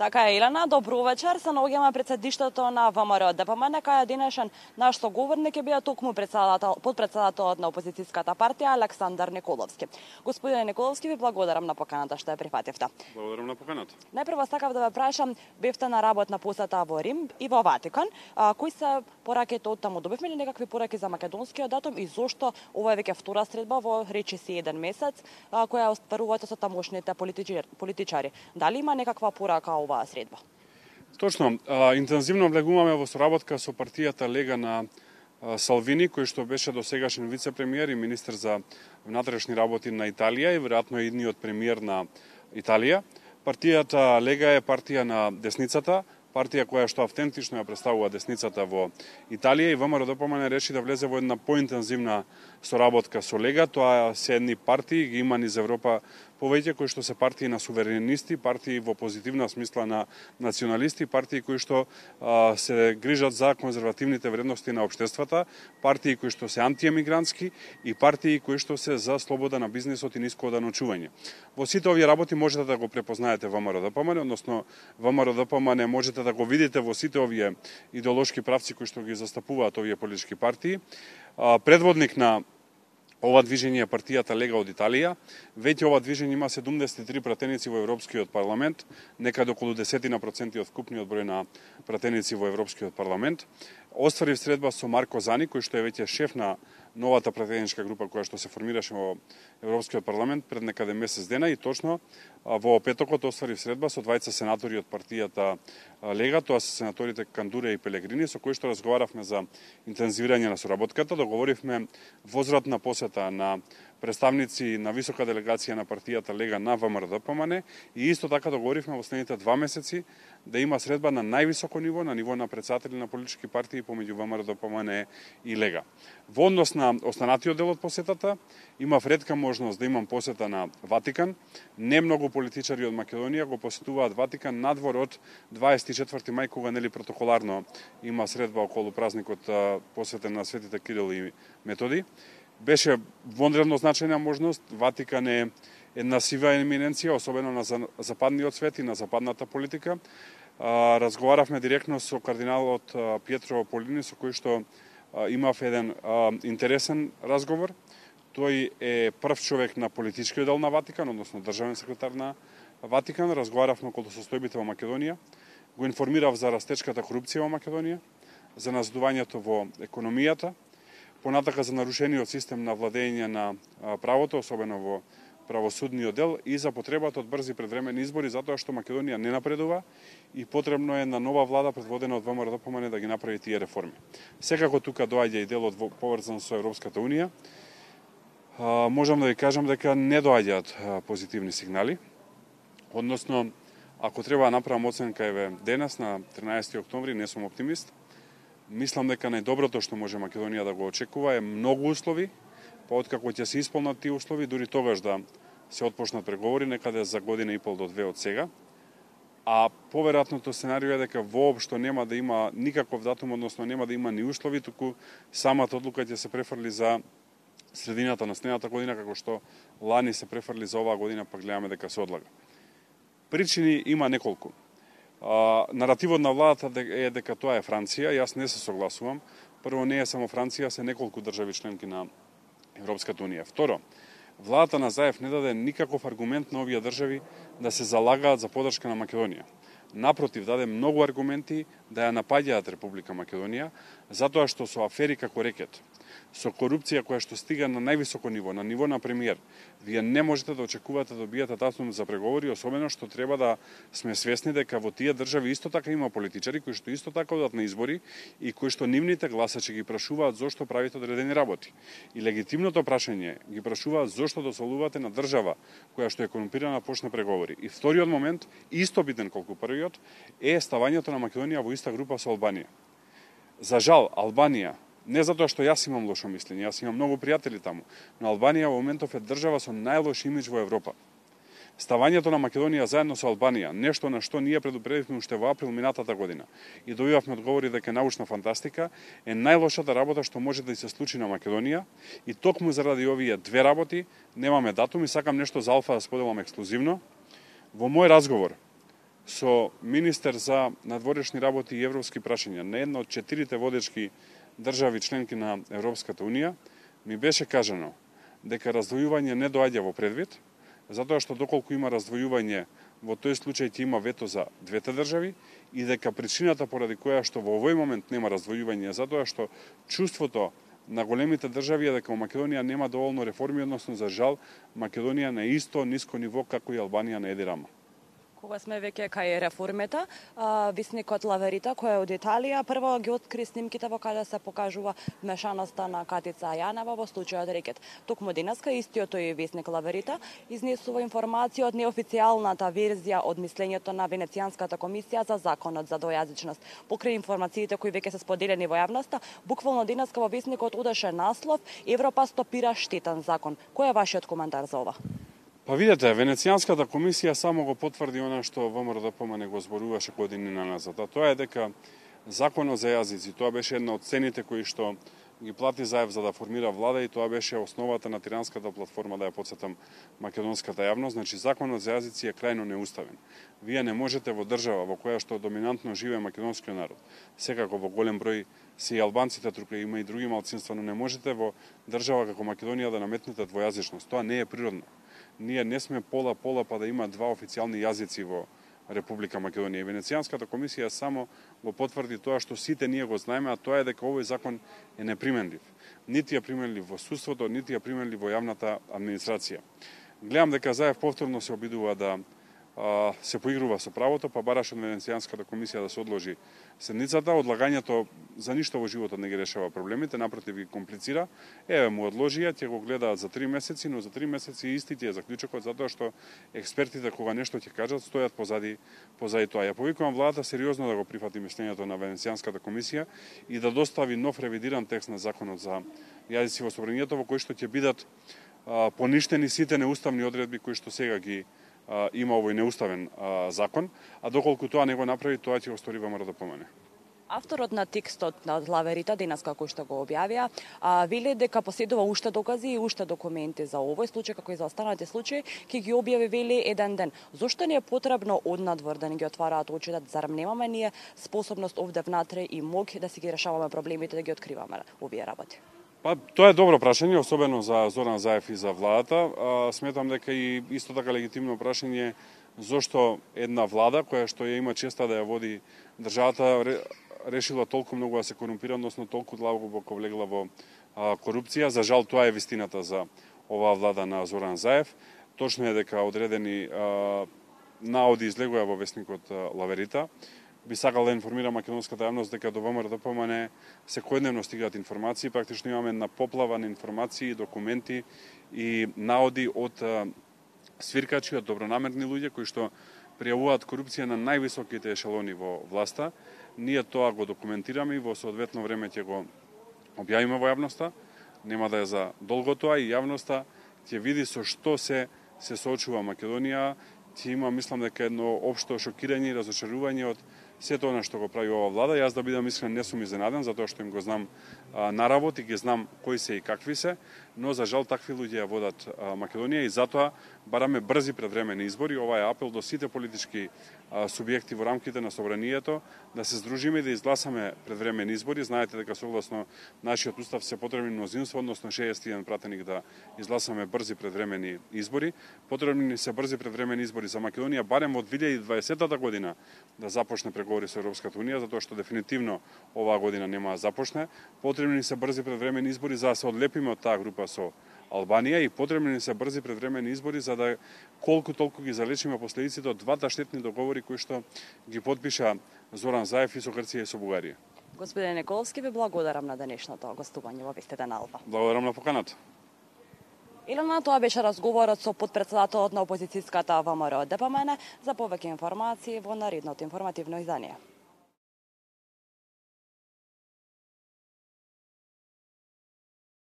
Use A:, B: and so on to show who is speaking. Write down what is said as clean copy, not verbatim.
A: Така е, Елена, добро вечер. Се наоѓаме пред седиштето на ВМРО ДПМН, кај денешен наш соговорник е бил токму подпредседателот на опозицијската партија Александар Николовски. Господине Николовски, ви благодарам на поканата што ја прифативте.
B: Благодарам на поканата.
A: Најпрво сакав да ве прашам, бевте на работна посета во Рим и во Ватикан. Кои се пораките од таму? Добивме ли некакви пораки за македонскиот датум и зошто ова е веќе втора средба во речиси еден месец, која остварувате со тамошните политичари? Дали има некаква порака оваа средба?
B: Точно, интензивно влегуваме во соработка со партијата Лега на Салвини, кој што беше досегашен вице-премиер и министер за внатрешни работи на Италија и веројатно едниот премиер на Италија. Партијата Лега е партија на десницата, партија која што автентично ја представува десницата во Италија и ВМРО ДПМН реши да влезе во една поинтензивна соработка со Лега. Тоа се едни партии, ги има низ Европа повеќе, кои што се партии на суверенисти, партии во позитивна смисла на националисти, партии кои што се грижат за конзервативните вредности на општествата, партии кои што се антиемигрантски и партии кои што се за слобода на бизнисот и ниско оданочување. Во сите овие работи можете да го препознаете ВМРО ДПМН, односно ВМРО ДПМН можете да го видите во сите овие идеолошки правци кои што ги застапуваат овие политички партии. Предводник на ова движење е партијата Лега од Италија. Веќе ова движење има 73 пратеници во Европскиот парламент, некаде околу 10% од вкупниот број на пратеници во Европскиот парламент. Остварив средба со Марко Зани, кој што е веќе шеф на новата пратеничка група која што се формираше во Европскиот парламент пред некаде месец дена и точно во петокот остварив средба со двајца сенатори од партијата Лега, тоа се сенаторите Кандуре и Пелегрини, со кои што разговаравме за интензивирање на соработката, договоривме возвратна посета на представници на висока делегација на партијата Лега на ВМРО ДПМН и исто така договоривме во следните 2 месеци да има средба на највисоко ниво, на ниво на претседатели на политички партии помеѓу ВМРО ДПМН и Лега. Во однос на останатиот дел од посетата, имав ретка можност да имам посета на Ватикан. Не многу политичари од Македонија го посетуваат Ватикан надвор од 24 мај, кога нели протоколарно има средба околу празникот посветен на светите Кирил и Методи. Беше вонредно значајна можност. Ватикан е една сива еминенција, особено на западниот свет и на западната политика. Разговаравме директно со кардиналот Пјетро Полини, со кој што имав еден интересен разговор. Тој е прв човек на политичкиот дел на Ватикан, односно државен секретар на Ватикан. Разговаравме околу состојбите во Македонија. Го информирав за растечката корупција во Македонија, за назидувањето во економијата, понатака за нарушениот систем на владење на правото, особено во правосудниот дел и за потребата од брзи предвремени избори, затоа што Македонија не напредува и потребно е на нова влада предводена од ВМРО ДПМН да ги направи тие реформи. Секако тука доаѓа и делот поврзан со Европската унија. Можам да ви кажам дека не доаѓаат позитивни сигнали. Односно, ако треба да направам оценка еве денес на 13 октомври, не сум оптимист. Мислам дека најдоброто што може Македонија да го очекува е многу услови, па откако ќе се исполнат тие услови, дури тогаш да се отпочнат преговори, некаде за година и пол до 2 од сега. А поверојатното сценарио е дека воопшто нема да има никаков датум, односно нема да има ни услови, туку самата одлука ќе се префрли за средината на следната година, како што лани се префрли за оваа година, па гледаме дека се одлага. Причини има неколку. Наративот на владата е дека тоа е Франција, јас не се согласувам. Прво, не е само Франција, се неколку држави членки на Европската унија. Второ, владата на Заев не даде никаков аргумент на овие држави да се залагаат за подршка на Македонија. Напротив, даде многу аргументи да ја напаѓаат Република Македонија, затоа што со афери како рекет, со корупција која што стига на највисоко ниво, на ниво на премиер, вие не можете да очекувате да добиете датум за преговори, особено што треба да сме свесни дека во тие држави исто така има политичари кои што исто така одат на избори и кои што нивните гласачи ги прашуваат зошто правите одредени работи. И легитимното прашање ги прашуваат зошто дозволувате на држава која што е корумпирана почне преговори. И вториот момент, исто битен колку првиот, е ставањето на Македонија во иста група со Албанија. За жал, Албанија, не затоа што јас имам лошо мислење, јас имам многу пријатели таму, но Албанија во моментов е држава со најлош имидж во Европа. Ставањето на Македонија заедно со Албанија, нешто на што ние предупредивме уште во април минатата година и добивавме одговори дека е научна фантастика, е најлошата работа што може да се случи на Македонија и токму заради овие две работи немаме датум и сакам нешто за Алфа да споделам ексклузивно. Во мој разговор со министер за надворешни работи и европски прашања на една од 4 водечки држави членки на Европската Унија, ми беше кажано дека раздвојување не доаѓа во предвид, затоа што доколку има раздвојување, во тој случај ќе има вето за двете држави и дека причината поради која што во овој момент нема раздвојување е затоа што чувството на големите држави е дека во Македонија нема доволно реформи, односно за жал Македонија на исто ниско ниво како и Албанија на Еди Рама.
A: Кога сме веќе кај реформите, висникот Лаверита, кој е од Италија, прво ги откри снимките во каде се покажува мешаноста на Катица Јанева во случајот Рекет. Токму денеска истиот тој висник Лаверита изнесува информација од неофицијалната верзија од мислењето на Венецијанската комисија за законот за двојазичност. Покрај информациите кои веќе се споделени во јавноста, буквално денеска во висникот одеше наслов Европа стопира штетен закон. Кој е вашиот коментар за ова?
B: Па видете, Венецијанската комисија само го потврди она што ВМРО не го зборуваше години назад. А тоа е дека законот за јазици, тоа беше една од цените кои што ги плати Заев за да формира влада и тоа беше основата на тиранската платформа, да ја потсетам македонската јавност. Значи, законот за јазици е крајно неуставен. Вие не можете во држава во која што доминантно живее македонскиот народ, секако во голем број се и албанците, тука има и други малцинства, но не можете во држава како Македонија да наметнете двојазичност. Тоа не е природно. Ние не сме пола па да има два официјални јазици во Република Македонија. И Венецијанската комисија само го потврди тоа што сите ние го знаеме, а тоа е дека овој закон е неприменлив. Нити е применлив во судството, нити е применлив во јавната администрација. Гледам дека Заев повторно се обидува да се поигрува со правото, па бараш од Венецијанската комисија да се одложи седницата. Одлагањето за ништо во животот не ги решава проблемите, напротив ги комплицира. Еве му одложија, ќе го гледаат за 3 месеци, но за 3 месеци исти ти е заклучокот, затоа што експертите кога нешто ќе кажат стојат позади тоа. Ја повикувам владата сериозно да го прифати мислењето на Венецијанската комисија и да достави нов ревидиран текст на законот за јазици во собранието, во кој што ќе бидат поништени сите неуставни одредби кои што сега ги има овој неуставен закон, а доколку тоа не го направи, тоа ќе го стори ВМРО.
A: Авторот на текстот на Лаверита денес како што го објавија, вели дека поседува уште докази и уште документи за овој случај како и за останатите случаи, ќе ги објави вели еден ден. Зошто не е потребно однадвор да не ги отвараат очите, зарем немаме ние способност овде внатре и мог да си ги решаваме проблемите, да ги откриваме овие работи?
B: Па, тоа е добро прашање, особено за Зоран Заев и за владата. Сметам дека и исто така легитимно прашање зошто една влада која што ја има честа да ја води државата решила толку многу да се корумпира, односно толку длабоко влегла во корупција. За жал тоа е вистината за оваа влада на Зоран Заев. Точно е дека одредени наоди излегува во весникот Лаверита. Би сакал да информира македонската јавност дека до ВМРО секојдневно стигаат информации, практично имаме една поплава на информации, документи и наоди од свиркачи, од добронамерни луѓе кои што пријавуваат корупција на највисоките ешелони во власта. Ние тоа го документираме и во соодветно време ќе го објавиме во јавноста. Нема да е за долго тоа и јавноста ќе види со што се соочува Македонија. Ќе има, мислам дека едно општо шокирање и разочарување од сето она што го прави ова влада. Јас да бидам искрен не сум изненаден, затоа што им го знам на работ и ги знам кои се и какви се, но за жал такви луѓе ја водат Македонија и затоа бараме брзи предвремени избори. Ова е апел до сите политички субјекти во рамките на собранието да се здружиме и да изгласаме предвремени избори. Знаете дека согласно нашиот устав се потребни мнозинство, односно 61 пратеник да изгласаме брзи предвремени избори. Потребни ни се брзи предвремени избори за Македонија барем во 2020 година да започне преговори со Европската Унија, затоа што дефинитивно оваа година нема да започне. Потребни ни се брзи предвремени избори за да се одлепиме од таа група со Албанија и потребни ни се брзи предвремени избори за да колку толку ги залечиме последиците од двата штетни договори кои што ги подпиша Зоран Заев и со Грција и со Бугарија.
A: Господине Николовски, ви благодарам на денешното гостување во Вестите на Алба.
B: Благодарам на поканата.
A: Илона, тоа беше разговорот со потпредседателот на опозицијската ВМРО ДПМН. За повеќе информации во наредното информативно издание.